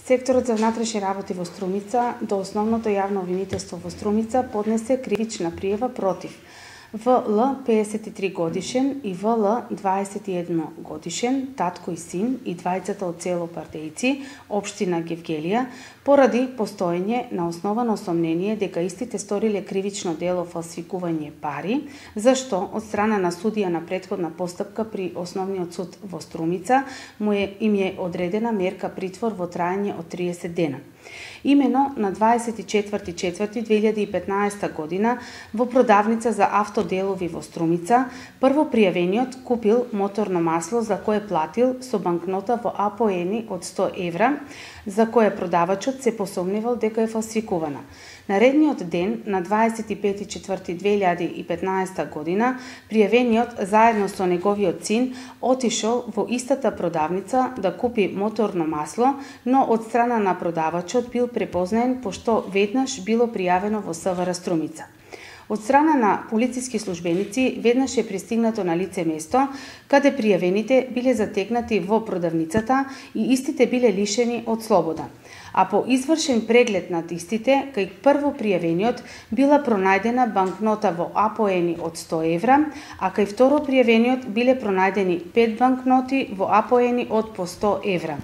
Секторот за внатрешни работи во Струмица до Основното јавно обвинителство во Струмица поднесе кривична пријава против В.Л. 53 годишен и В.Л. 21 годишен, татко и син и двајцата од село Пардејци, општина Гевгелија, поради постоење на основано сомнение дека истите сториле кривично дело фалсификување пари, зашто од страна на судија на претходна постапка при Основниот суд во Струмица им е одредена мерка притвор во траење од 30 дена. Имено на 24.4.2015 година во продавница за автоделови во Струмица, прво пријавениот купил моторно масло за кое платил со банкнота во АПО-ени од 100 евра, за кое продавачот се посомневал дека е фалсификувана. Наредниот ден, на 25.4.2015 година, пријавениот заедно со неговиот син отишол во истата продавница да купи моторно масло, но од страна на продавачот бил препознаен пошто веднаш било пријавено во СВР Струмица. Од страна на полициски службеници веднаш е пристигнато на лице место, каде пријавените биле затекнати во продавницата и истите биле лишени од слобода. А по извршен преглед над истите, кај прво пријавениот била пронајдена банкнота во АПО-ени од 100 евра, а кај второ пријавениот биле пронајдени 5 банкноти во АПО-ени од по 100 евра.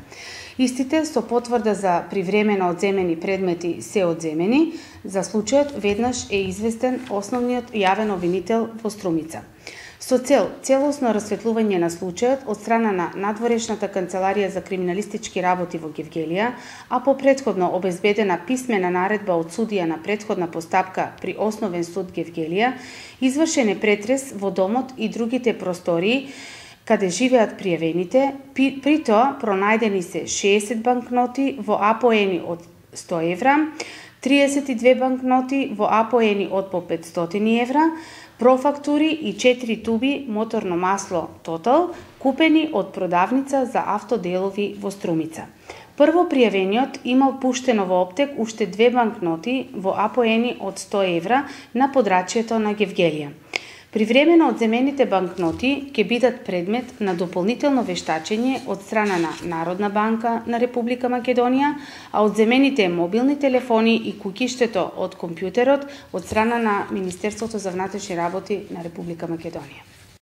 Истите со потврда за привремено одземени предмети се одземени, за случајот веднаш е известен Основниот јавен обвинител во Струмица. Со целосно расветлување на случајот од страна на надворешната канцеларија за криминалистички работи во Гевгелија, а по претходно обезбедена писмена наредба од судија на претходна постапка при Основен суд Гевгелија, извршен е претрес во домот и другите простории каде живеат пријавените, при тоа пронајдени се 60 банкноти во АПО-ени од 100 евра, 32 банкноти во АПО-ени од по 500 евра, профактури и 4 туби моторно масло Тотал, купени од продавница за автоделови во Струмица. Прво пријавениот имал пуштено во оптек уште 2 банкноти во АПО-ени од 100 евра на подрачјето на Гевгелија. Привремено одземените банкноти ќе бидат предмет на дополнително вештачење од страна на Народна банка на Република Македонија, а одземените мобилни телефони и куќиштето од компјутерот од страна на Министерството за внатрешни работи на Република Македонија.